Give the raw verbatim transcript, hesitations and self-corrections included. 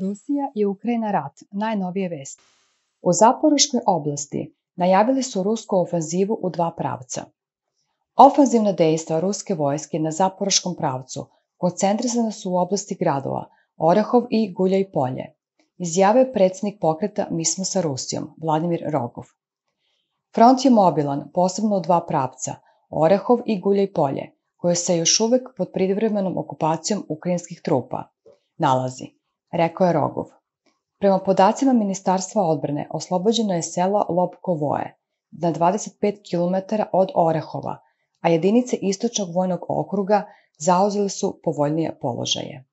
Rusija i Ukrajina rat, najnovije vesti. U Zaporoškoj oblasti najavili su rusku ofanzivu u dva pravca. Ofanzivna dejstva ruske vojske na Zaporoškom pravcu koncentrisana su u oblasti gradova Orehov i Guljaj Polje, izjavio je predsjednik pokreta Mi smo sa Rusijom, Vladimir Rogov. Front je mobilan, posebno u dva pravca, Orehov i Guljaj Polje, koje se još uvek pod privremenom okupacijom ukrajinskih trupa nalazi, rekao je Rogov. Prema podacima Ministarstva odbrane, oslobođeno je selo Lobkovoje, na dvadeset pet kilometara od Orehova, a jedinice Istočnog vojnog okruga zauzele su povoljnije položaje.